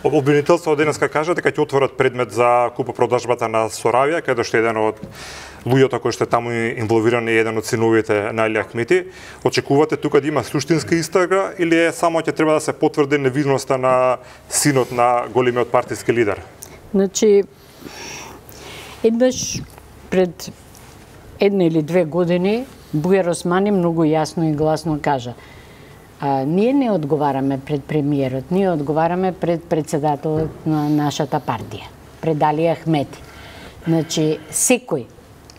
Обвинителството денеска кажа дека ќе отворат предмет за купопродажбата на Соравија, каде што еден од луѓето кои што е таму инволвирани е еден од синовите на Али Ахмети. Очекувате тука да има суштинска истрага или е само ќе треба да се потврди невиновноста на синот на големиот партиски лидер? Значи, еднаш пред 1 или 2 години Бујар Османи многу јасно и гласно кажа: ние не одговараме пред премиерот, ние одговараме пред председателот на нашата партија, пред Али Ахмети. Значи, секој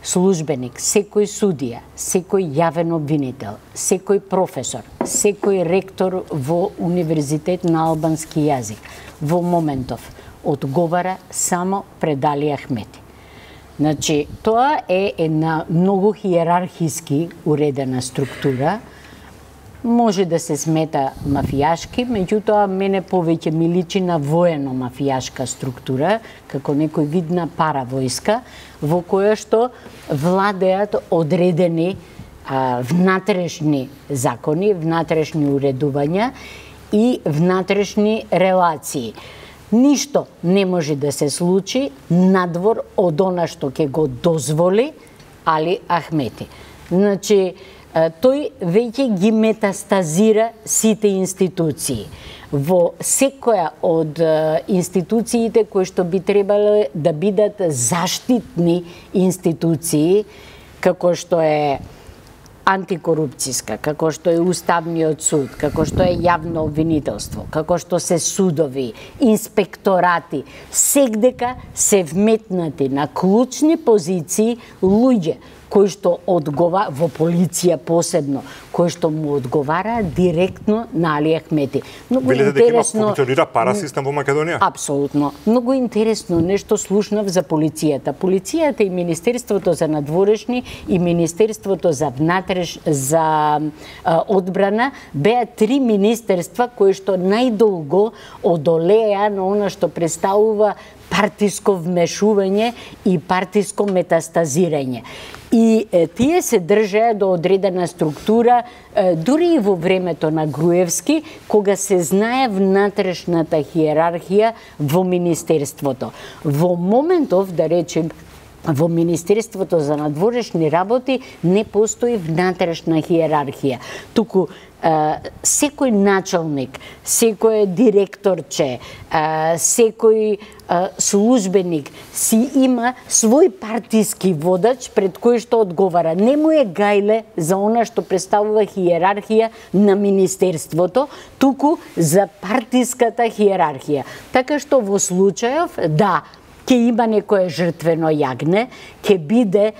службеник, секој судија, секој јавен обвинител, секој професор, секој ректор во Универзитет на албански јазик во моментов одговара само пред Али Ахмети. Значи, тоа е една многу хиерархиски уредена структура. Може да се смета мафијашки, меѓутоа мене повеќе ми личи на воено-мафијашка структура, како некој вид на паравојска, во која што владеат одредени внатрешни закони, внатрешни уредувања и внатрешни релации. Ништо не може да се случи надвор од она што ќе го дозволи Али Ахмети. Значи, тој веќе ги метастазира сите институции. Во секоја од институциите кои што би требало да бидат заштитни институции, како што е антикорупцијска, како што е Уставниот суд, како што е јавно обвинителство, како што се судови, инспекторати, сегдека се вметнати на клучни позиции луѓе кои што одговара во полиција посебно, кои што му одговара директно на Али Ахмети. Многу интересно функционира парасистем во Македонија? Апсолутно. Многу интересно нешто слушнав за полицијата. Полицијата и Министерството за надворешни и Министерството за одбрана беа 3 министерства кои што најдолго одолеа на она што представува партиско вмешување и партиско метастазирање. И тие се држеа до одредена структура, дури и во времето на Груевски, кога се знае внатрешната хиерархија во Министерството. Во моментов, да речем, во Министерството за надворешни работи не постои внатрешна хиерархија. Туку секој началник, секој директорче, секој службеник си има свој партиски водач пред кој што одговара. Не му е гајле за она што представува хиерархија на Министерството, туку за партиската хиерархија. Така што во случајов, да, ќе има некое жртвено јагне, ќе биде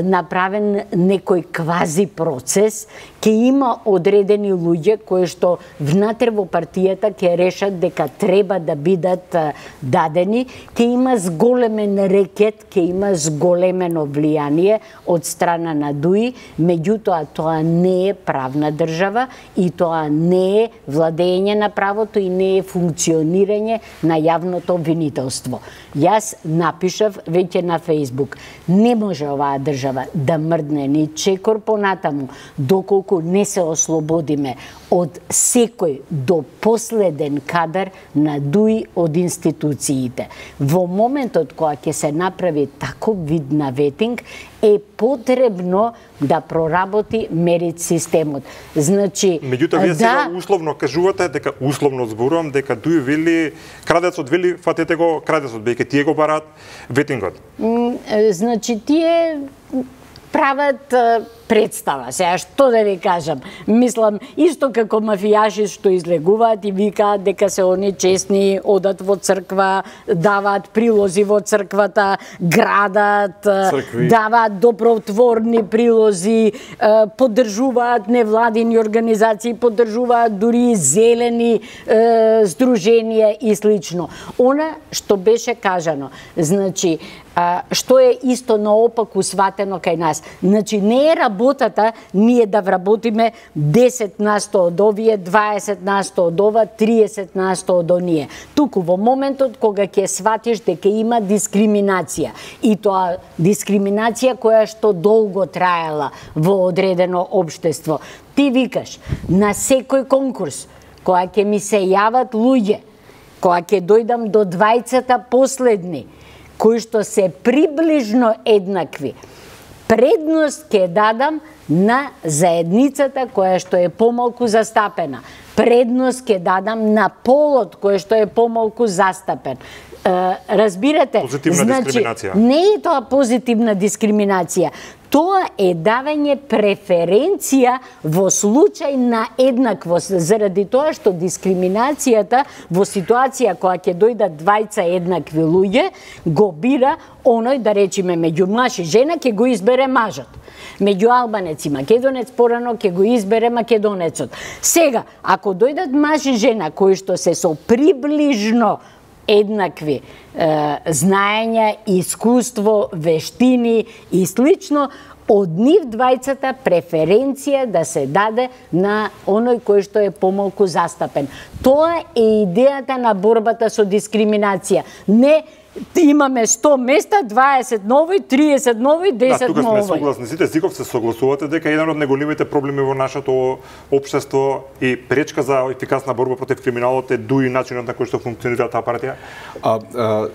направен некој квази процес, ќе има одредени луѓе кои што внатре во партијата ќе решат дека треба да бидат дадени, ќе има зголемен рекет, ќе има зголемено влијание од страна на ДУИ, меѓутоа тоа не е правна држава и тоа не е владење на правото и не е функционирање на јавното обвинителство. Јас напишав веќе на Фејсбук, не може оваа држава да мрдне ни чекор понатаму, доколку не се ослободиме од секој до последен кадар на ДУИ од институциите. Во моментот кога ќе се направи таков вид на ветинг, е потребно да проработи мерит системот. Значи, меѓутоа вие сега условно кажувате дека условно зборувам дека ДУИ вели крадецот вели фатете го крадецот, бејќи тие го бараат ветингот. Значи тие прават представа. Сега, што да ви кажам? Мислам, исто како мафијаши што излегуваат и викаат дека се они честни, одат во црква, даваат прилози во црквата, градат, даваат добротворни прилози, поддржуваат невладини организации, поддржуваат дури зелени здруженија и слично. Она што беше кажано, значи, што е исто наопаку сватено кај нас. Значи, не е работата ние да вработиме 10% од овие, 20% од ова, 30% од оние. Туку во моментот кога ќе сватиш дека има дискриминација, и тоа дискриминација која што долго траела во одредено општество, ти викаш на секој конкурс која ќе ми се јават луѓе кога ќе дојдам до двајцата последни, кои што се приближно еднакви, предност ќе дадам на заедницата која што е помалку застапена. Предност ќе дадам на полот кој што е помалку застапен. Разбирате? Позитивна дискриминација. Не е тоа позитивна дискриминација. Тоа е давање преференција во случај на еднаквост, заради тоа што дискриминацијата во ситуација кога ќе дојдат двајца еднакви луѓе, го бира оној, да речеме, меѓу маж и жена ќе го избере мажот. Меѓу албанец и македонец порано ќе го избере македонецот. Сега, ако дојдат маж и жена кои што се со приближно еднакви знаења, искуство, вештини и слично, од нив двајцата преференција да се даде на оној кој што е помалку застапен. Тоа е идејата на борбата со дискриминација. Не имаме 100 места, 20 нови, 30 нови, 10 нови. Да, тука сме согласни. Сите Зиков се согласувате дека еден од најголемите проблеми во нашето општество и пречка за ефикасна борба против криминалот е дуи начинот на кој што функционира таа партија.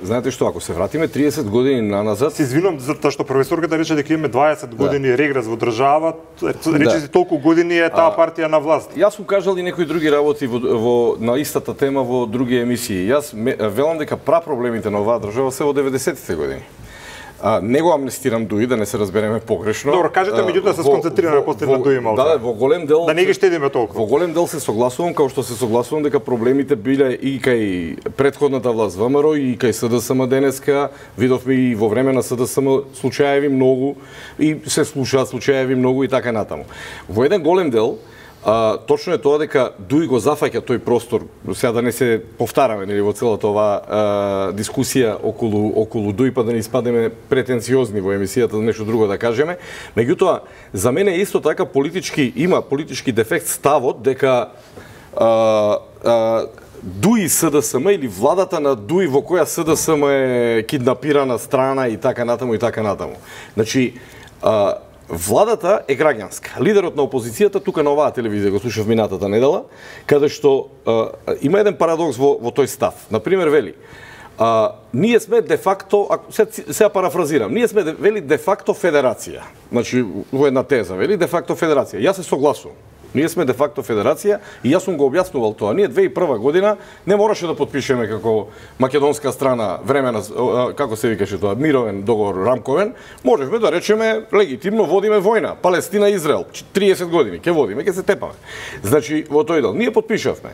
Знаете што, ако се вратиме 30 години наназад... Се извинувам затоа што професорката рече дека имаме 20 години регрес во држава, рече си толку години е таа партија на власт. Јас сум кажал и некои други работи на истата тема во други емисии. Јас велам дека прапроблемите на оваа држава се во 90-тите години. Не го амнестирам Дуи, да не се разбереме погрешно. Добро, кажете, меѓутоа се сконцентрираме после на Дуи малку. Да, во голем дел... Да не ги штедиме толку. Во голем дел се согласувам, као што се согласувам дека проблемите биле и кај претходната власт ВМРО и кај СДСМ денеска. Видовме и во време на СДСМ случаеви многу и се слушаат случаеви многу и така натаму. Во еден голем дел точно е тоа дека Дуи го зафаќа тој простор, сега да не се повтараме нели во целата оваа дискусија околу Дуи, па да не испадеме претенциозни во емисијата, нешто друго да кажеме. Меѓутоа, за мене исто така има политички дефект ставот дека Дуи СДСМ или владата на Дуи во која СДСМ е киднапирана страна и така натаму и така натаму. Значи, владата е граѓанска. Лидерот на опозицијата тука на оваа телевизија го слушав минатата недела, каде што има еден парадокс во тој став. Например, вели, ние сме де факто, сега парафразирам, ние сме вели де факто федерација. Значи, во една теза, вели, де факто федерација. Јас се согласувам. Ние сме де факто федерација и јас сум го објаснувал тоа. Ние 2001 година не мораше да подпишеме како македонска страна времена, како се викаше тоа, мировен договор рамковен. Можевме да речеме легитимно водиме војна, Палестина Израел, 30 години ќе водиме, ќе се тепаме. Значи во тој дел ние подпишавме.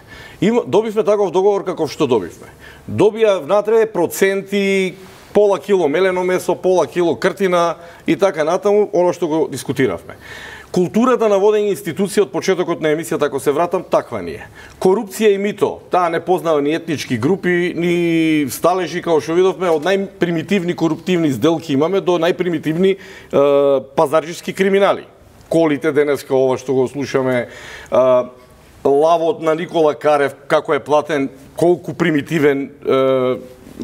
Добивме таков договор каков што добивме. Добија внатре проценти, пола кило мелено месо, пола кило кртина и така натаму, оно што го дискутиравме. Културата на водење институција од почетокот на емисијата, ако се вратам, таква ни е. Корупција и мито, таа не познава ни етнички групи, ни сталежи, као што видовме, од најпримитивни коруптивни сделки имаме до најпримитивни пазарџиски криминали. Колите денеска, ова што го слушаме, лавот на Никола Карев, како е платен, колку примитивен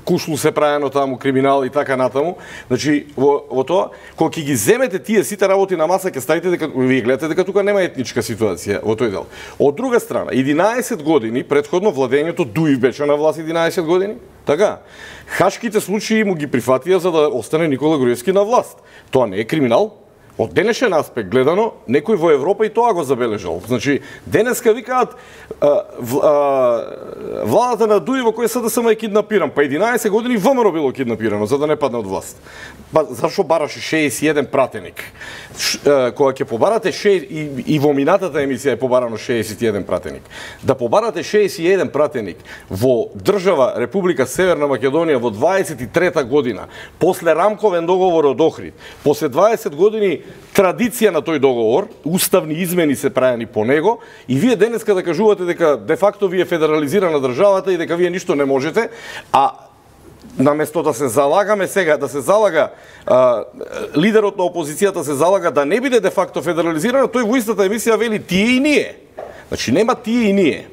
кушлу се праено таму, криминал и така натаму. Значи, во тоа, кога ќе ги земете тие сите работи на маса, ќе ставите дека вие гледате дека тука нема етничка ситуација во тој дел. Од друга страна, 11 години предходно владењето Дуи беше на власт 11 години. Така, хашките случаи му ги прифатија за да остане Никола Груевски на власт. Тоа не е криминал? Од денешен аспект гледано, некој во Европа и тоа го забележал. Значи, денеска викаат владата на Дуи во која СДСМ е киднапиран. Па 11 години ВМРО било киднапирано, за да не падне од власт. Па зашо бараше 61 пратеник? Кога ќе побарате и во минатата емисија е побарано 61 пратеник. Да побарате 61 пратеник во држава Република Северна Македонија во 23 година, после рамковен договор од Охрид, после 20 години традиција на тој договор, уставни измени се правени по него, и вие денеска да кажувате дека де факто вие федерализирана државата и дека вие ништо не можете, а наместо да се залагаме сега, да се залага лидерот на опозицијата се залага да не биде де факто федерализирана, тој во истата емисија вели тие и ние. Значи нема тие и ние.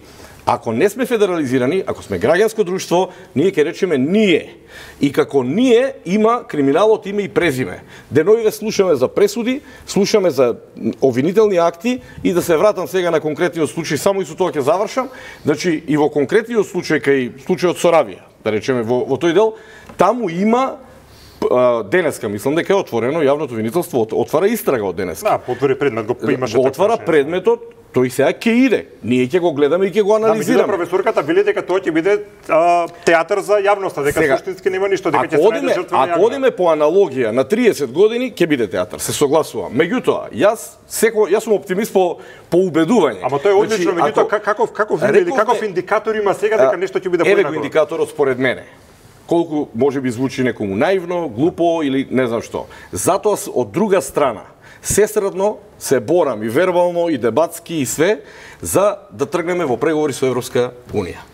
Ако не сме федерализирани, ако сме граѓанско друштво, ние ќе речеме ние. И како ние има криминалот име и презиме. Деновиве слушаме за пресуди, слушаме за обвинителни акти и да се вратам сега на конкретниот случај, само и со тоа ќе завршам. Значи и во конкретниот случај кај случајот Соравија, да речеме во тој дел, таму има денеска, мислам дека е отворено јавното обвинителство, отвара истрага од денеска. Да, потвори предмет, го имаше го отвара предметот, тој сега ќе иде. Ние ќе го гледаме и ќе го анализираме. Да, професорката вели дека тоа ќе биде театар за јавноста, дека суштински нема ништо, дека ќе се најде жртва на јавноста. Ако одиме по аналогија на 30 години, ќе биде театар, се согласувам. Меѓутоа, јас сум оптимист по убедување. Ама тоа е одлично, меѓутоа каков индикатор има сега дека нешто ќе биде поинако? Еве го индикаторот според мене. Колку може би звучи некому наивно, глупо или не знам што. Затоа од друга страна сесредно се борам и вербално и дебатски и све за да тргнеме во преговори со Европска Унија.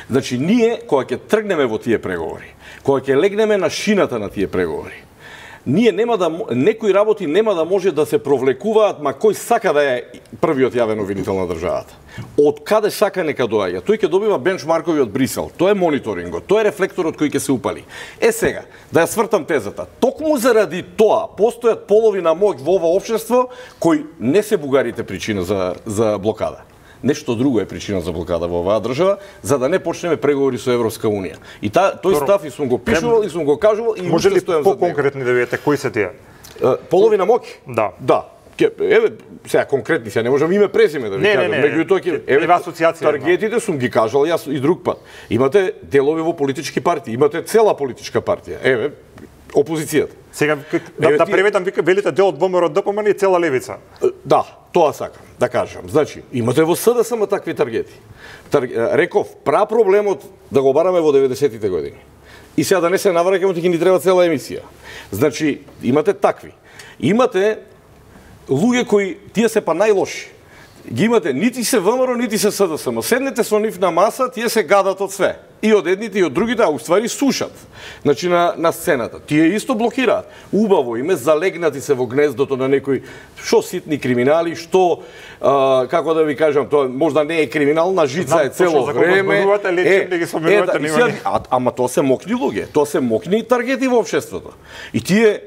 Значи ние кога ќе тргнеме во тие преговори, кога ќе легнеме на шината на тие преговори, ние нема да некои работи нема да може да се провлекуваат, ма кој сака да е првиот јавен обвинител на државата. Од каде сака нека доаѓа. Тој ќе добива бенчмаркови од Брисел. Тоа е мониторингот, тоа е рефлекторот кој ќе се упали. Сега, да ја свртам тезата. Токму заради тоа постојат полови на моќ во ова општество кои не се бугарите причина за блокада. Нешто друго е причина за блокада во оваа држава, за да не почнеме преговори со Европска Унија. И тој став и сум го пишувал и сум го кажувал и може ли по-конкретни да видите кои се тие? Полови на моќ? Да. Да. Еве, сега конкретни, сега не можам име презиме да ви кажам. Меѓутоа еве асоциација. Таргетите сум ги кажал јас и друг пат. Имате делови во политички партии, имате цела политичка партија. Еве, опозицијата. Сега да преведам, велите дел од ВМРО ДПМН и цела левица. Да, тоа сакам да кажам. Значи, имате во СДСМ такви таргети. Реков, проблемот да го бараме во 90-тите години. И сега да не се навраќаме, ќе ни треба цела емисија. Значи, имате такви. Имате луѓе кои тие се па најлоши. Ги имате нити се ВМРО, нити се СДСМ. Седнете со нив на маса, тие се гадат од све. И од едните и од другите, а уствари слушат. Значи на сцената. Тие исто блокираат. Убаво име залегнати се во гнездото на некои што ситни криминали, што како да ви кажам, тоа можда не е криминал, на жица е цело време. Ама тоа се мокни луѓе, тоа се мокни таргети во општеството. И тие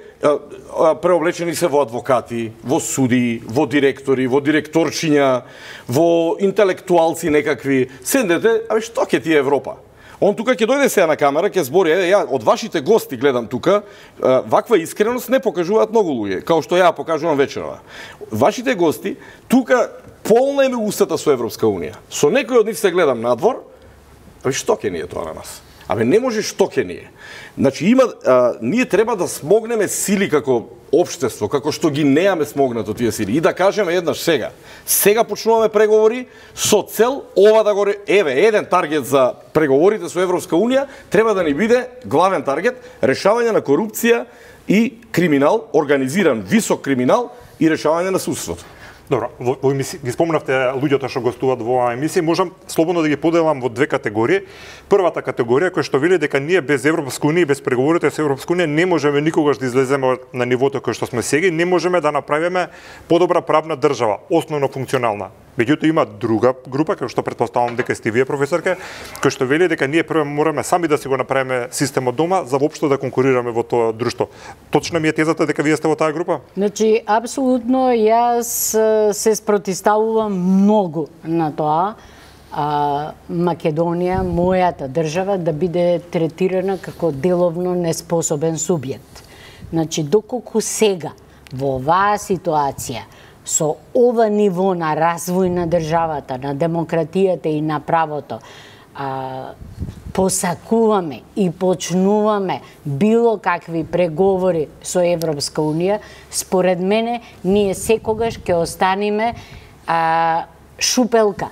преоблечени се во адвокати, во суди, во директори, во директорчиња, во интелектуалци некакви. Седнете, што ќе ти е Европа? Он тука ќе дојде сега на камера, ќе збори, ја од вашите гости гледам тука, ваква искреност не покажуваат многу луѓе, као што ја покажувам вечерва. Вашите гости тука полна име устата со Европска Унија. Со некој од нив се гледам надвор, што ќе ни е тоа на нас? Не може што ќе ни е. Значи ние треба да смогнеме сили како општество, како што ги неаме смогнато тие сили. И да кажеме еднаш сега. Сега почнуваме преговори со цел ова да го еден таргет за преговорите со Европска Унија треба да ни биде главен таргет решавање на корупција и криминал, организиран висок криминал и решавање на судството. Добро, во емисија ги спомнавте луѓето што гостуваат во оваа емисија, можам слободно да ги поделам во две категории. Првата категорија која што вели дека ние без Европска Унија и без преговорите со Европска Унија не можеме никогаш да излеземе на нивото кое што сме сега, не можеме да направиме подобра правна држава, основно функционална. Меѓутоа има друга група, која што претпоставувам дека сте вие, професорке, која што вели дека ние прво мораме сами да си го направиме системот дома за воопшто да конкурираме во тоа друштво. Точна ми е тезата дека вие сте во таа група? Значи, апсолутно, јас се спротивставувам многу на тоа Македонија, мојата држава, да биде третирана како деловно неспособен субјект. Значи, доколку сега во оваа ситуација со ова ниво на развој на државата, на демократијата и на правото, посакуваме и почнуваме било какви преговори со Европска Унија, според мене, ние секогаш ќе останеме шупелка.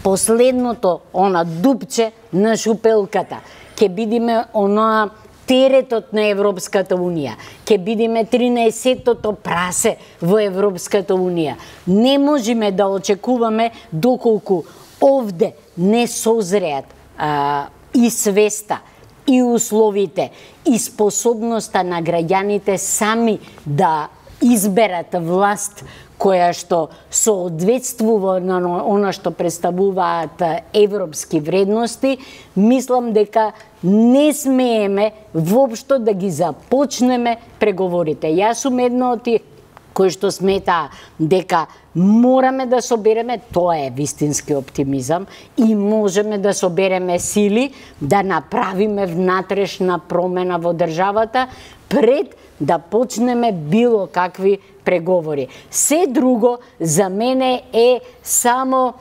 Последното, она дупче на шупелката. Ќе бидеме оноа теретот на Европската Унија. Ќе бидеме 13-тото прасе во Европската Унија. Не можеме да очекуваме доколку овде не созреат и свеста, и условите, и способноста на граѓаните сами да изберат власт која што соодветствува на она што представуваат европски вредности, мислам дека не смееме воопшто да ги започнеме преговорите. Јас сум една од тие кои што смета дека мораме да собереме, тоа е вистински оптимизам, и можеме да собереме сили да направиме внатрешна промена во државата пред да почнеме било какви преговори. Се друго за мене е само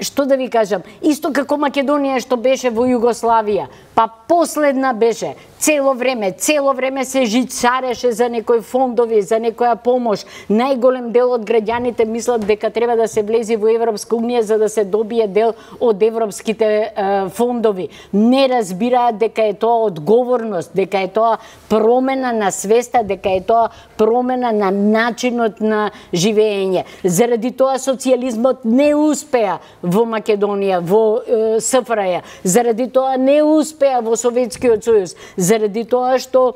што да ви кажам, исто како Македонија што беше во Југославија, па последна беше, цело време се жицареше за некои фондови, за некоја помош. Најголем дел од граѓаните мислат дека треба да се влези во Европска унија за да се добие дел од европските фондови. Не разбираат дека е тоа одговорност, дека е тоа промена на свеста, дека е тоа промена на начинот на живење. Заради тоа социјализмот не успеа во Македонија, во СФРЈ. Заради тоа не успеа во Советскиот сојуз. Заради тоа што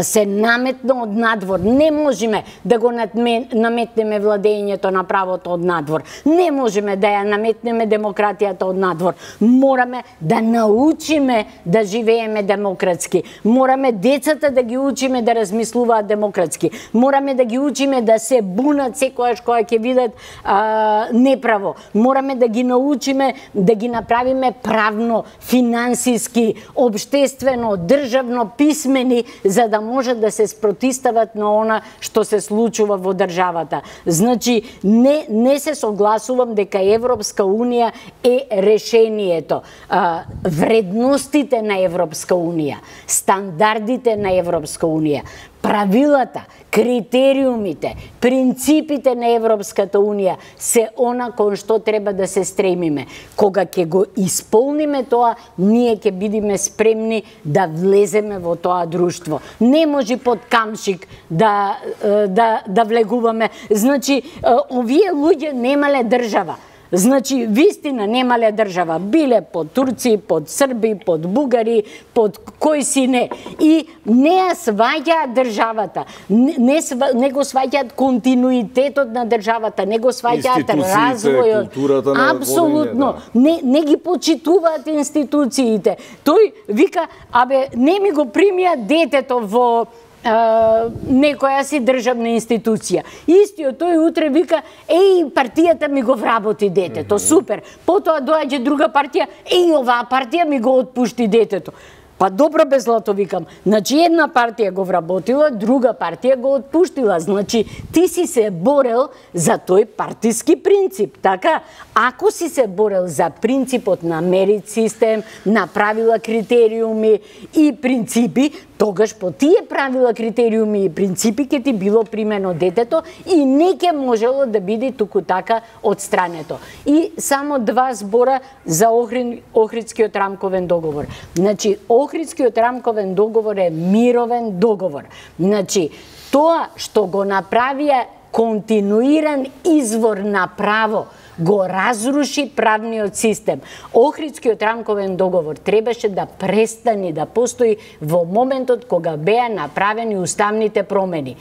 се наметна од надвор. Не можеме да го наметнеме владењето на правото од надвор. Не можеме да ја наметнеме демократијата од надвор. Мораме да научиме да живееме демократски. Мораме децата да ги учиме да размислуваат демократски. Мораме да ги учиме да се бунат секојаш кога ќе видат неправо. Мораме да ги научиме да ги направиме правно, финансиски, обштествено, државно писмени, за да може да се спротистават на она што се случува во државата. Значи, не се согласувам дека Европска Унија е решението. Вредностите на Европска Унија, стандардите на Европска Унија, правилата, критериумите, принципите на Европската Унија се она кон што треба да се стремиме. Кога ќе го исполниме тоа, ние ќе бидеме спремни да влеземе во тоа друштво. Не може под камшик да влегуваме. Значи, овие луѓе немале држава. Значи, вистина немале држава. Биле под турци, под срби, под бугари, под кој си не. И не ја сваќаат државата. Не го сваќаат континуитетот на државата, не го сваќаат развојот. Апсолутно. Не ги почитуваат институциите. Тој вика, не ми го примија детето во некоја си државна институција. Истиот тој утре вика, партијата ми го вработи детето, супер. Потоа доаѓа друга партија, оваа партија ми го отпушти детето. Па добро бе злато, викам. Значи една партија го вработила, друга партија го отпуштила. Значи ти си се борел за тој партиски принцип, така? Ако си се борел за принципот на мерит систем, на правила, критериуми и принципи, тогаш по тие правила, критериуми и принципи ќе ти било примено детето и не ќе можело да биде туку така одстрането. И само 2 збора за Охридскиот рамковен договор. Значи, Охридскиот рамковен договор е мировен договор. Значи, тоа што го направија континуиран извор на право, го разруши правниот систем. Охридскиот рамковен договор требаше да престане да постои во моментот кога беа направени уставните промени.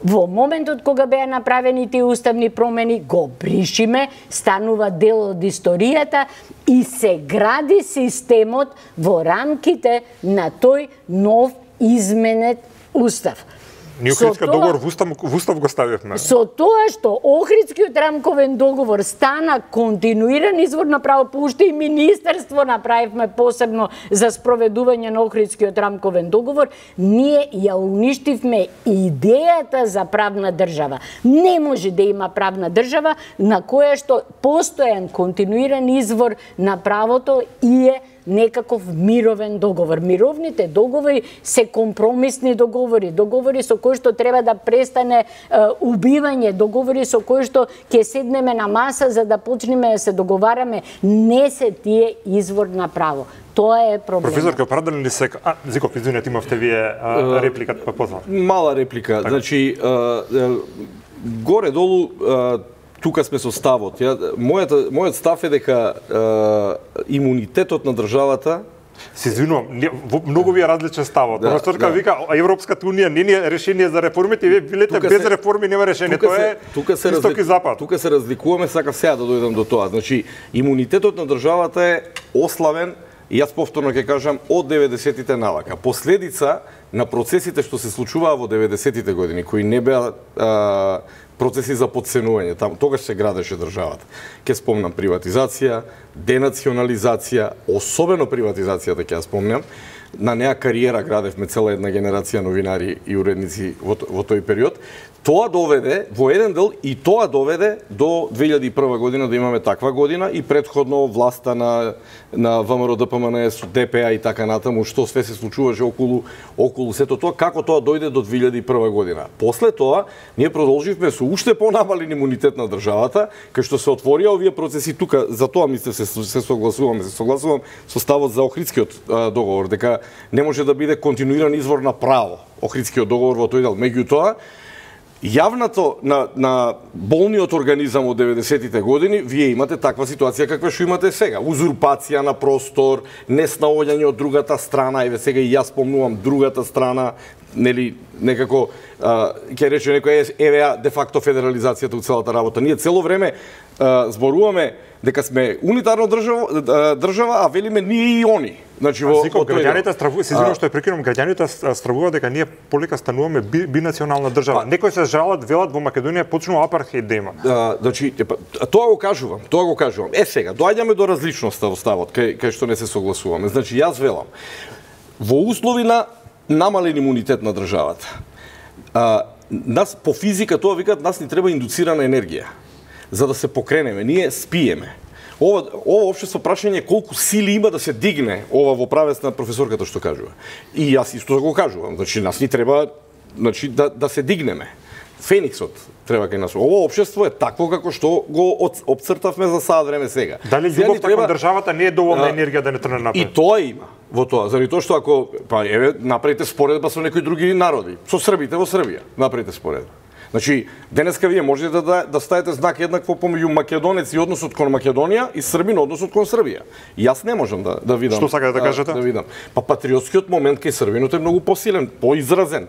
Во моментот кога беа направени тие уставни промени, го бришиме, станува дел од историјата и се гради системот во рамките на тој нов изменет устав. Ние Охридскиот договор во устав го ставивме. Со тоа што Охридскиот рамковен договор стана континуиран извор на право, по уште и министерство направивме посебно за спроведување на Охридскиот рамковен договор, ние ја уништивме идејата за правна држава. Не може да има правна држава на која што постојан континуиран извор на правото и е некаков мировен договор. Мировните договори се компромисни договори, договори со кои што треба да престане убивање, договори со кои што ќе седнеме на маса за да почнеме да се договараме. Не се тие извор на право. Тоа е проблем. Професор, ке оправдали ли се... Зиков, извинете, имавте вие репликата, па позна. Мала реплика. Так. Значи, горе-долу, тука сме со ставот. Мојот став е дека имунитетот на државата Се извинувам, многу ви е различен ставот. Професорка вика Европската унија не е решение за реформите, вие билете без реформи нема решение. Тоа е исток и запад. Тука се разликуваме, сакав сега да дојдам до тоа. Значи, имунитетот на државата е ославен, и јас повторно ќе кажам, од 90-тите навака. Последица на процесите што се случуваа во 90-тите години, кои не беа процеси за подценување, тогаш се градеше државата. Ке спомнам приватизација, денационализација, особено приватизацијата ќе ја спомнам. На неа кариера градевме цела една генерација новинари и уредници во тој период. Тоа доведе во еден дел и тоа доведе до 2001 година да имаме таква година и претходно власта на ВМРО ДПМНС, ДПА и така натаму, што све се случуваше околу сето тоа, како тоа дојде до 2001 година. После тоа ние продолживме со уште понамален имунитет на државата, кај што се отворија овие процеси тука, за тоа мислев се согласувам со ставот за Охридскиот договор, дека не може да биде континуиран извор на право Охридскиот договор во тој дел. Меѓутоа, јавното на болниот организам од 90-тите години, вие имате таква ситуација каква што имате сега. Узурпација на простор, неснаоѓање од другата страна, еве сега и јас спомнувам другата страна, нели некако ќе рече некој еве де факто федерализацијата од целата работа. Ние цело време зборуваме дека сме унитарна држава, а велиме ние и они. Значи во граѓаните стравуваат, се извинувам што ја прекинувам, граѓаните стравуваат дека ние полека стануваме бинационална држава. Некои се жалат, велат во Македонија почнува апартхеид да има. Значи тоа го кажувам. Сега доаѓаме до различноста во ставот, кај што не се согласуваме. Значи јас велам во услови на намален имунитет на државата. Нас по физика тоа викаат, нас ни треба индуцирана енергија за да се покренеме. Ние спиеме. Ова општество прашање колку сили има да се дигне ова во правец на професорката што кажува. И јас исто го кажувам. Значи нас ни треба да се дигнеме. Фениксот треба кај нас. Ова општество е такво како што го опцртавме за сад време сега. Дали љубовта кон државата не е доволна енергија да не трне напред? И тоа има во тоа, заради тоа што ако направите споредба со некои други народи, со србите во Србија, направите споредба. Значи, денеска вие можете да ставите знак еднакво помеѓу македонец и односот кон Македонија и србин односот кон Србија. Јас не можам да видам. Што сакате да кажете? Да видам. Патриотскиот момент кај србинот е многу посилен, поизразен,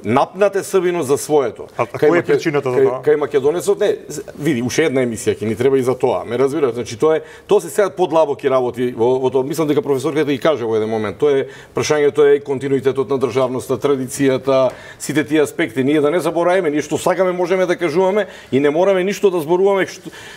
напнат е србинот за своето. А која е причината за тоа? Кај македонецот не, види, уште една емисија ќе ни треба и за тоа. Ме разбирате? Значи тоа се сега подлабоки работи во тоа. Мислам дека професорката ги каже во еден момент. Тоа е прашањето е континуитетот на државноста, традицијата, сите тие аспекти. Ние да не забораваме, ние што сакаме можеме да кажуваме и не мораме ништо да зборуваме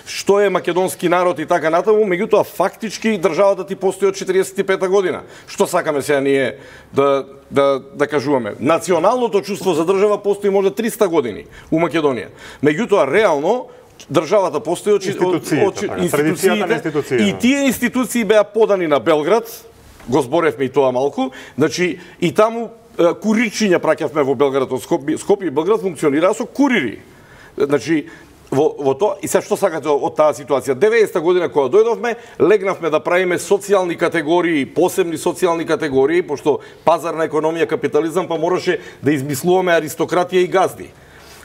што е македонски народ и така натаму, меѓутоа фактички државата ти постои од 45 година. Што сакаме сега ние да кажуваме? Националното чувство за држава постои може 300 години у Македонија. Меѓутоа реално државата постои од институциите и тие институции беа подани на Белград, го зборевме и тоа малку, значи и таму курирчиња праќавме во Белград од Скопје и Белград функционираа со курири. Значи во тоа и се што сакате од таа ситуација. 90-та година кога дојдовме, легнавме да правиме социјални категории, посебни социјални категории, пошто пазарна економија, капитализам, па мораше да измислуваме аристократија и газди.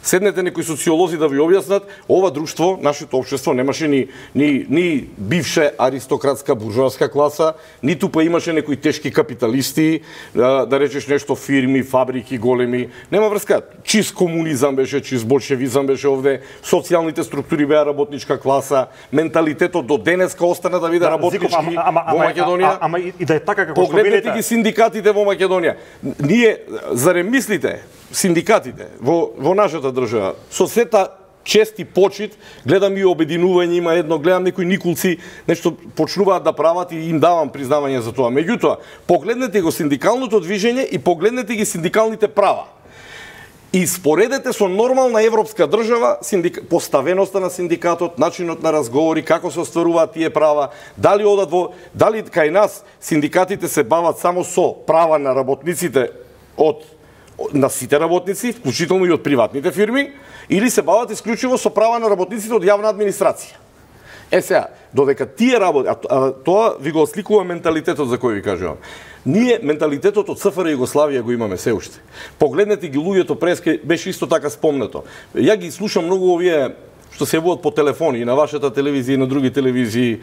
Седнете некои социолози да ви објаснат, ова друштво, нашето општество немаше ни бивше аристократска буржоаска класа, ниту па имаше некои тешки капиталисти, да речеш нешто фирми, фабрики големи, нема врска. Чист комунизам беше, чист болшевизам беше овде, социјалните структури беа работничка класа, менталитетот до денеска остана да биде работнички во Македонија. Ама и да е така како што погледнете ги синдикатите во Македонија. Ние зарем мислите синдикатите во нашата држава, со сета чест и почит, гледам и обединување, има едно, гледам некои никулци, нешто почнуваат да прават и им давам признавање за тоа. Меѓутоа, погледнете го синдикалното движење и погледнете ги синдикалните права. И споредете со нормална европска држава, поставеноста на синдикатот, начинот на разговори, како се остваруваат тие права, дали кај нас синдикатите се бават само со права на работниците на сите работници, вклучително и од приватните фирми, или се бават исклучиво со права на работниците од јавна администрација. Сега, додека тие работи, тоа ви го осликува менталитетот за кој ви кажувам. Ние менталитетот од СФР Југославија го имаме се уште. Погледнете ги луѓето преске, беше исто така спомнато. Ја ги слушам многу овие што се јавуваат по телефони и на вашата телевизија и на други телевизии,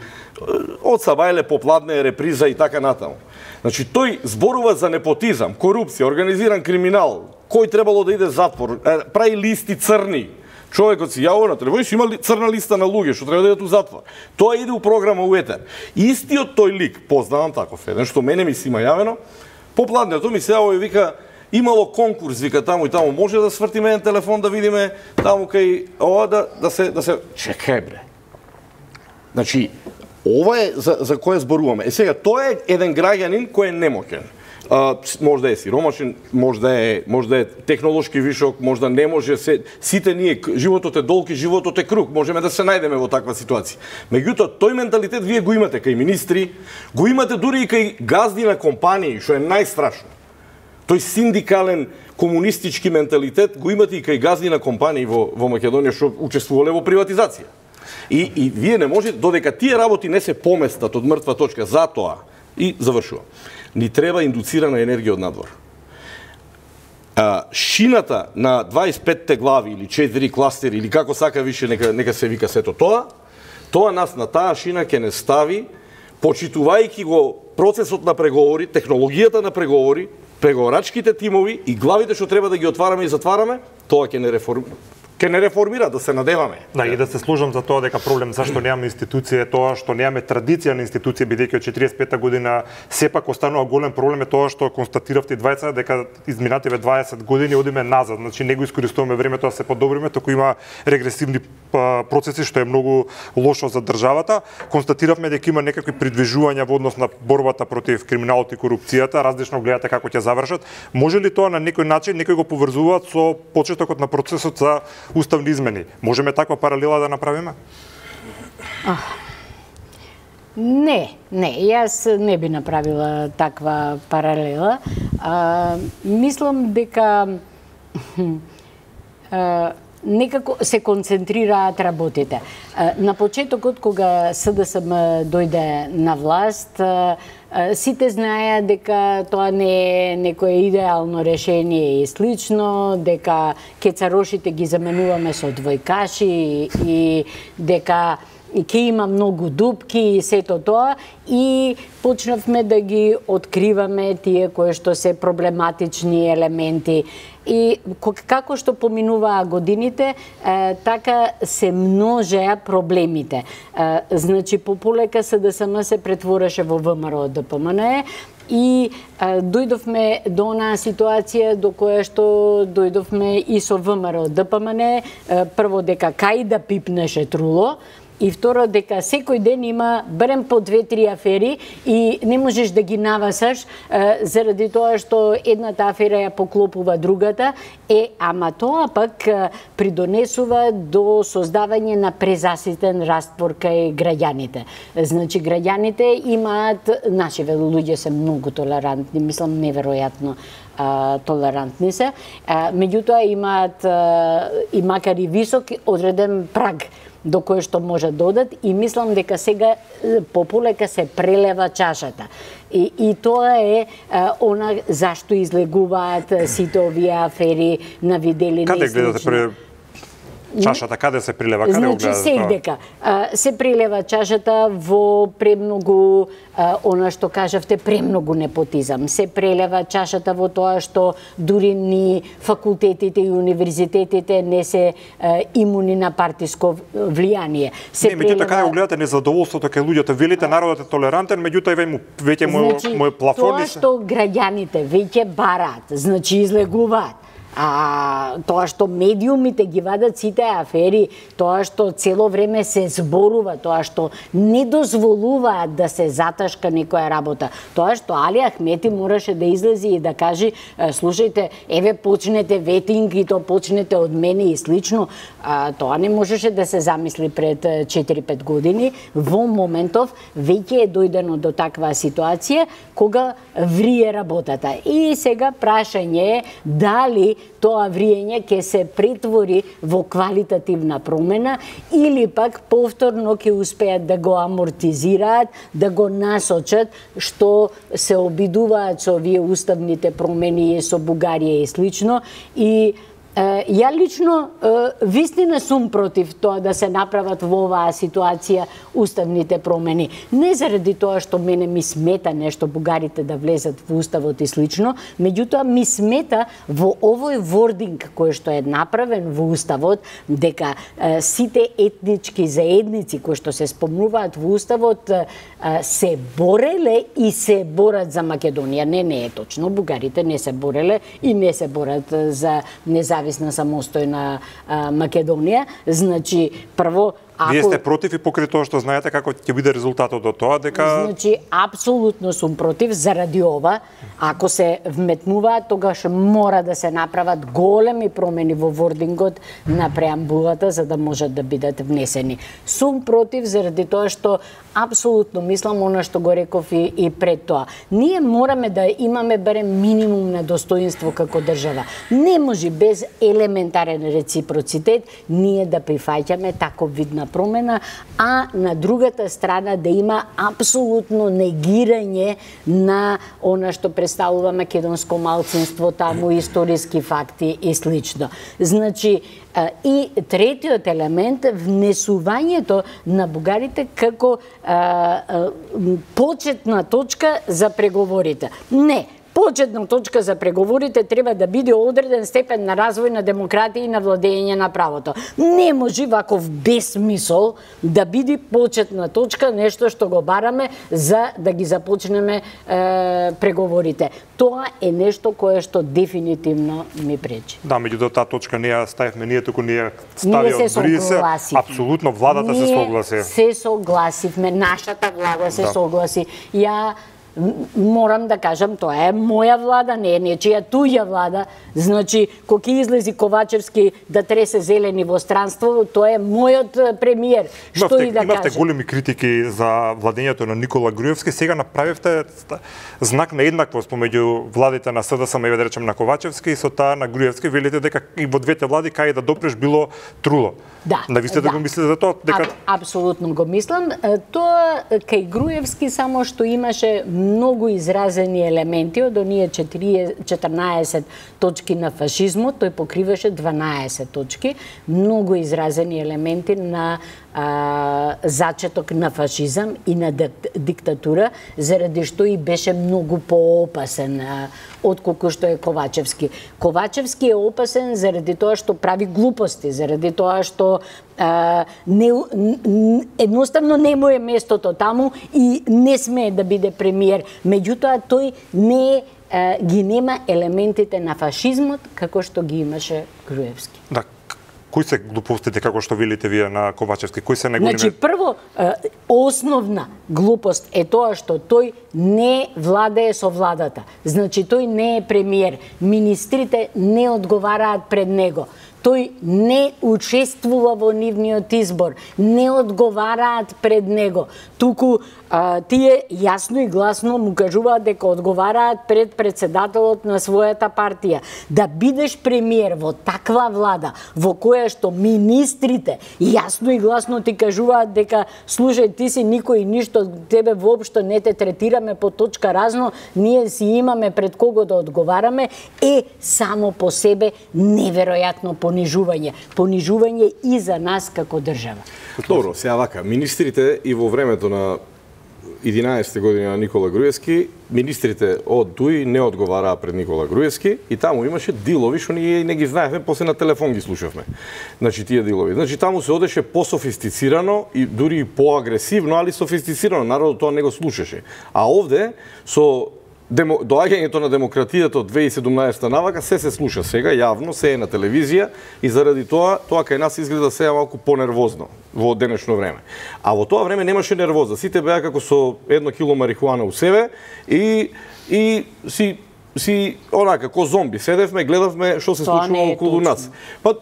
од сабајле попладне реприза и така натаму. Значи, тој зборува за непотизам, корупција, организиран криминал, кој требало да иде затвор, прави листи црни. Човекот си јавува на телевизија, има црна листа на луѓе што треба да идат у затвор. Тоа иде у програма у етер. Истиот тој лик, познавам таков еден, што мене ми си има јавено, попладнето ми се јавува и вика, имало конкурс, вика таму и таму, може да свртиме еден телефон да видиме таму кај ова да се чекај бре. Значи, ова е за кој зборуваме. Сега тоа е еден граѓанин кој е немоќен. Може да е сиромашен, може да е технолошки вишок, може да не може сите ние, животот е долг и животот е круг, можеме да се најдеме во таква ситуација. Меѓутоа, тој менталитет вие го имате кај министри, го имате дури и кај газди на компании, што е најстрашно. Тој синдикален комунистички менталитет го имате и кај газди на компании во Македонија што учествувале во приватизација. И вие не можете, додека тие работи не се поместат од мртва точка, затоа, и завршувам, ни треба индуцирана енергија од надвор. Шината на 25 глави или 4 кластери или како сака више нека се вика сето тоа нас на таа шина ќе не стави, почитувајќи го процесот на преговори, технологијата на преговори, преговорачките тимови и главите што треба да ги отвараме и затвараме, тоа ќе не реформира, да се надеваме. Да, и да се служам за тоа дека проблем зашто немаме институција е тоа што немаме традиција на институција, бидејќи од 45-та година сепак останува голем проблем е тоа што констатиравте и двајца дека изминативе 20 години одиме назад, значи не го искористуваме времето да се подобриме, току има регресивни процеси што е многу лошо за државата. Констатиравме дека има некакви придвижувања во однос на борбата против криминалот и корупцијата, различно гледате како ќе завршат. Може ли тоа на некој начин некој го поврзуваат со почетокот на процесот за уставни измени? Можеме таква паралела да направиме? Не, јас не би направила таква паралела. Мислам дека некако се концентрираат работите. На почетокот, кога СДСМ дојде на власт, сите знаеа дека тоа не е некое идеално решение и слично, дека кецарошите ги заменуваме со двојкаши и дека ќе има многу дупки и сето тоа, и почнавме да ги откриваме тие кои што се проблематични елементи. И како што поминуваа годините, така се множеа проблемите. Значи, пополека СДСМ се претвореше во ВМРО ДПМН и дојдовме до онаа ситуација до која што дојдовме и со ВМРО ДПМН, прво дека кај да пипнеше труло, и второ дека секој ден има барем по 2-3 афери и не можеш да ги навасаш заради тоа што едната афера ја поклопува другата, ама тоа пак придонесува до создавање на презаситен раствор кај граѓаните. Значи, граѓаните имаат, нашиве луѓе се многу толерантни, мислам неверојатно толерантни се, меѓутоа имаат и макар и висок одреден праг до кој што може додат, и мислам дека сега пополека се прелева чашата. И тоа е она зашто излегуваат сите овие афери на видели. Каде гледате чашата, каде се прилева, каде го гледате? Значи, сега се прилева чашата во премногу, она што кажавте, премногу непотизам. Се прелева чашата во тоа што дури ни факултетите и универзитетите не се имуни на партиско влијание. Не, меѓутоа, каде го гледате незадоволството кај луѓето? Велите народот е толерантен, меѓутоа веќе мој плафон... Тоа што граѓаните веќе бараат, значи излегуваат, тоа што медиумите ги вадат сите афери, тоа што цело време се зборува, тоа што не дозволуваат да се заташка некоја работа, тоа што Али Ахмети мораше да излези и да каже, слушајте, еве почнете ветинг и то почнете од мене и слично, тоа не можеше да се замисли пред 4-5 години. Во моментов веќе е дојдено до таква ситуација кога врие работата. И сега прашање е дали тоа вриење ќе се претвори во квалитативна промена или пак повторно ќе успеат да го амортизираат, да го насочат, што се обидуваат со овие уставните промени со Бугарија и слично, и Ја лично вистина сум против тоа да се направат во оваа ситуација уставните промени. Не заради тоа што мене ми смета нешто бугарите да влезат во уставот и слично, меѓутоа ми смета во овој вординг кој што е направен во уставот дека сите етнички заедници кои што се спомнуваат во уставот се бореле и се борат за Македонија. Не е точно. Бугарите не се бореле и не се борат за независна самостојна Македонија. Значи, прво, Вие сте против и покрај тоа што знаете како ќе биде резултатот од тоа, дека... Значи, апсолутно сум против заради ова. Ако се вметнуваат, тогаш мора да се направат големи промени во вордингот на преамбулата за да можат да бидат внесени. Сум против заради тоа што апсолутно мислам она што го реков и пред тоа. Ние мораме да имаме барем минимум на достоинство како држава. Не може без елементарен реципроцитет ние да прифаќаме таков вид на промена, а на другата страна да има апсолутно негирање на она што представува македонско малцинство таму, историски факти и слично. Значи, и третиот елемент, внесувањето на бугарите како почетна точка за преговорите. Не, почетна точка за преговорите треба да биде одреден степен на развој на демократија и на владење на правото. Не може ваков безсмисол да биде почетна точка нешто што го бараме за да ги започнеме преговорите. Тоа е нешто кое што дефинитивно ми пречи. Да, меѓутоа таа точка не ја ставивме ние, туку ние ставиме Брисе. Апсолутно владата се согласи. Ние се согласивме, нашата влада се согласи. Ја морам да кажам, тоа е моја влада, не е нечија туѓа влада. Значи, кога ќе излези Ковачевски да тресе зелени во странство, тоа е мојот премиер. Што и да кажам. Имавте големи критики за владењето на Никола Груевски, сега направивте знак на еднаквост помеѓу владите на СДСМ и да речем на Ковачевски и со таа на Груевски, велите дека и во двете влади кај да допреш било труло. Да. Да ви сте да го мислите за тоа? Апсолутно го мислам. Тоа кај Груевски само што имаше многу изразени елементи од оние 14 точки на фашизмот, тој покриваше 12 точки, многу изразени елементи на зачеток на фашизам и на диктатура, заради што и беше многу поопасен отколку што е Ковачевски. Ковачевски е опасен заради тоа што прави глупости, заради тоа што едноставно не му е местото таму и не смее да биде премиер. Меѓутоа тој ги нема елементите на фашизмот како што ги имаше Груевски. Да. Кои се глупостите, како што велите вие на Ковачевски? Кои се најголеми? Значи, прво, основна глупост е тоа што тој не владее со владата. Значи, тој не е премиер. Министрите не одговараат пред него. Тој не учествува во нивниот избор, не одговараат пред него. Туку тие јасно и гласно му кажуваат дека одговараат пред председателот на својата партија. Да бидеш премиер во таква влада, во која што министрите јасно и гласно ти кажуваат дека слушај, ти си никој и ништо, тебе воопшто не те третираме по точка разно, ние си имаме пред кого да одговараме, е само по себе неверојатно понижување. Понижување и за нас како држава. Добро, сега вака, министрите и во времето на 11 години на Никола Груевски, министрите од ДУИ не одговараа пред Никола Груевски и таму имаше дилови што ние не ги знаевме, после на телефон ги слушавме. Значи тие дилови. Значи таму се одеше пософистицирано и дури и поагресивно, али софистицирано, народот тоа не го слушаше. А овде со доаѓањето на демократијата од 2017 навака се слуша сега јавно, се е на телевизија и заради тоа кај нас изгледа сега малку понервозно во денешно време. А во тоа време немаше нервоза. Сите беа како со 1 кило марихуана у себе и си онака како зомби седевме, гледавме што се случува околу нас. Па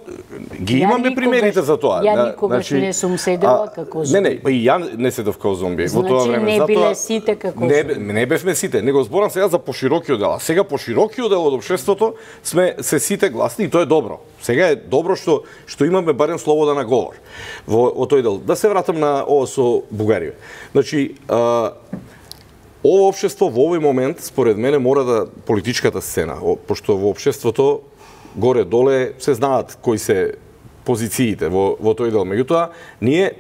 ги имаме примерите за тоа. Ја никогаш не сум седела како зомби. Не, па и ја не седев како зомби во тоа време. Значи не биле сите како зомби. Не бевме сите, него зборам сега за поширокиот дел. А сега поширокиот дел од општеството сме се сите гласни и тоа е добро. Сега е добро што имаме барем слобода на говор во тој дел. Да се вратам на ова со Бугарија. Значи, ово општество во овој момент, според мене, мора да политичката сцена, пошто во општеството горе-доле се знаат кои се позициите во тој дел. Меѓутоа, ние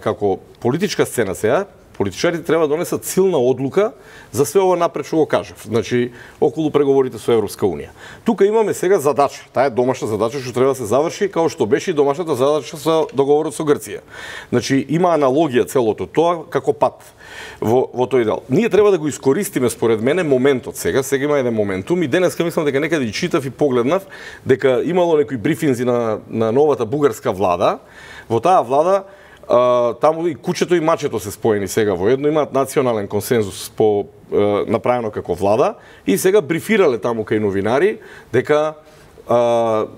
како политичка сцена сега, политичарите треба да донесат силна одлука за све ова напред што го кажав. Значи, околу преговорите со Европска Унија. Тука имаме сега задача. Таа е домашна задача што треба да се заврши, као што беше и домашната задача со договорот со Грција. Значи, има аналогија целото тоа како пат во тој дел. Ние треба да го искористиме според мене моментот сега. Сега има еден моментум и денеска мислам дека некаде и читав и погледнав дека имало некои брифинзи на новата бугарска влада. Во таа влада таму и кучето и мачето се споени сега во едно, имаат национален консензус направено како влада и сега брифирале таму кај новинари дека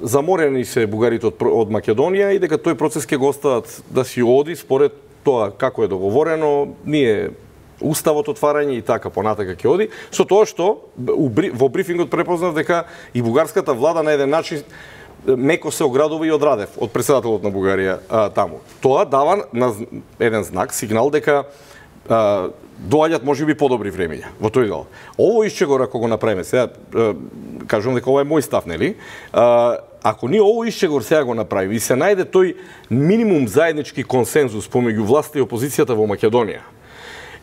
заморени се бугарите од Македонија и дека тој процес ќе го остават да си оди според тоа како е договорено, ние уставот отварање и така понатака ќе оди, со тоа што во брифингот препознав дека и бугарската влада на еден начин меко се оградува и од Радев, од претседателот на Бугарија таму. Тоа дава еден знак, сигнал дека доаѓаат можеби подобри времиња во тој дел. Ово исчегор ако го направиме, сега кажувам дека ова е мој став, нели? Ако ние ово исчегор сега го направиме и се најде тој минимум заеднички консензус помеѓу власта и опозицијата во Македонија,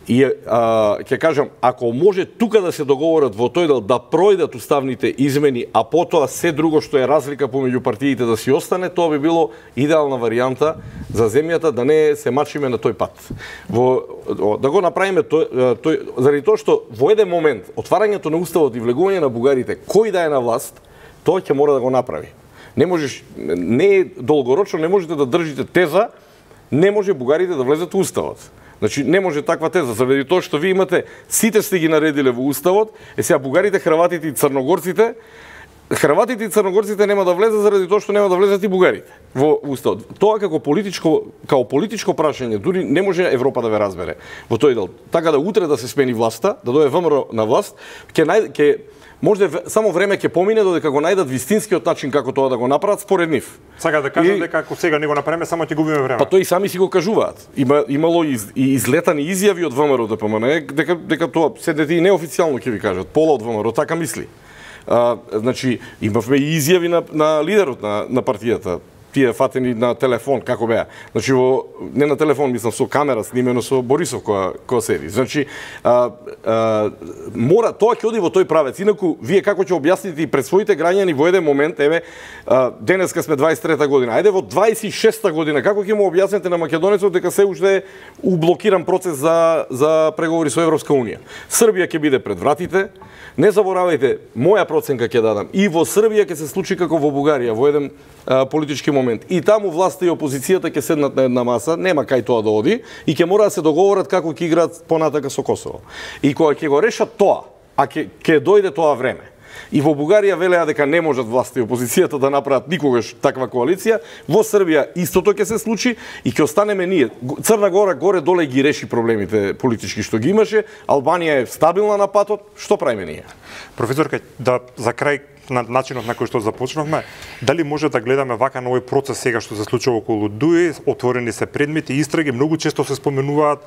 и ќе кажам, ако може тука да се договорат во тој дел да пројдат уставните измени, а потоа се друго што е разлика помеѓу партиите да си остане, тоа би било идеална варијанта за земјата да не се мачиме на тој пат. Да го направиме заради тоа што во еден момент отварањето на уставот и влегување на бугарите, кој да е на власт, тоа ќе мора да го направи. Не е долгорочно, не можете да држите теза, не може бугарите да влезат во уставот. Значи, не може таква теза, заради тоа што ви имате, сите сте ги наредиле во уставот, сега бугарите, хрватите и црногорците нема да влезат заради тоа што нема да влезат и бугарите во уставот. Тоа како политичко прашање, дури не може Европа да ве разбере во тој дел. Така да утре да се смени власта, да дојде ВМРО на власт, може само време ќе помине додека го најдат вистинскиот начин како тоа да го направат според нив. Сега да кажам дека ако сега не го направиме, само ќе губиме време. Па тој и сами си го кажуваат. Имало и излетани изјави од ВМРО ДПМН дека тоа седете и неофицијално ќе ви кажат. Пола од ВМРО така мисли. Значи имавме и изјави на лидерот на партијата. Тие фатени на телефон, како беа. Значи, не на телефон, мислам, со камера снимено со Борисов која седи. Значи, мора, тоа ќе оди во тој правец. Инаку, вие како ќе објасните и пред своите граѓани во еден момент, еве, денеска сме 23-та година, ајде во 26-та година, како ќе му објасните на македонецот дека се уште е ублокиран процес за преговори со Европска Унија. Србија ќе биде пред вратите. Не заборавајте, моја проценка ќе дадам. И во Србија ќе се случи како во Бугарија, во еден политички момент. И таму власта и опозицијата ќе седнат на една маса, нема кај тоа да оди, и ќе мора да се договорат како ќе играат понатака со Косово. И кога ќе го решат тоа, а ќе дојде тоа време, и во Бугарија велеа дека не можат власта и опозицијата да направат никогаш таква коалиција, во Србија истото ќе се случи и ќе останеме ние. Црна Гора горе-доле ги реши проблемите политички што ги имаше, Албанија е стабилна на патот, што правиме ние? Професорка, да за крај на начинот на кој што започнавме, дали може да гледаме вака на овој процес сега што се случува околу ДУИ, отворени се предмети, истраги, многу често се споменуваат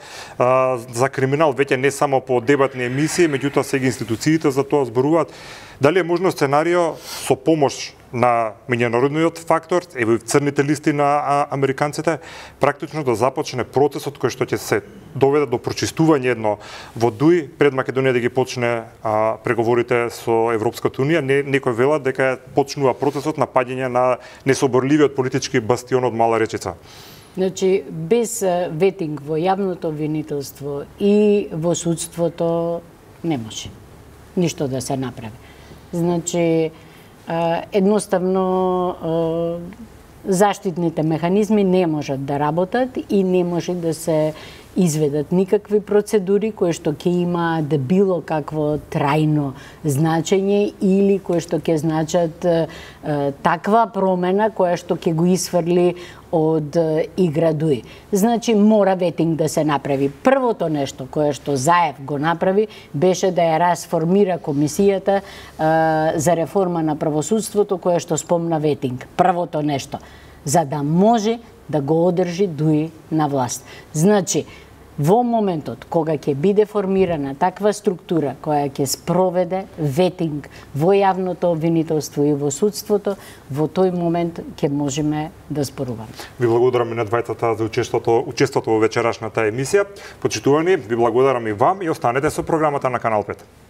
за криминал, веќе не само по дебатни емисии, меѓутоа сега институциите за тоа зборуваат. Дали е можно сценарио со помош на меѓународниот фактор, ево и црните листи на американците, практично да започне процесот кој што ќе се доведе до прочистување едно во ДУИ пред Македонија да ги почне преговорите со Европската Унија. Некој велат дека почнува процесот на паѓање на несоборливиот политички бастион од Мала Речица. Значи, без ветинг во јавното обвинителство и во судството не може ништо да се направи. Значи, едноставно заштитните механизми не можат да работат и не може да се изведат никакви процедури кои што ќе имаат било какво трајно значење или кои што ќе значат таква промена која што ќе го исфрли од игра ДУИ. Значи, мора ветинг да се направи. Првото нешто кое што Заев го направи беше да ја расформира комисијата за реформа на правосудството кое што спомна ветинг. Првото нешто, за да може да го одржи ДУИ на власт. Значи, Во моментот кога ќе биде формирана таква структура која ќе спроведе ветинг во јавното обвинителство и во судството, во тој момент ќе можеме да споруваме. Ви благодарам и на двајцата за учеството во вечерашната емисија. Почитувани, ви благодарам и вам и останете со програмата на Канал 5.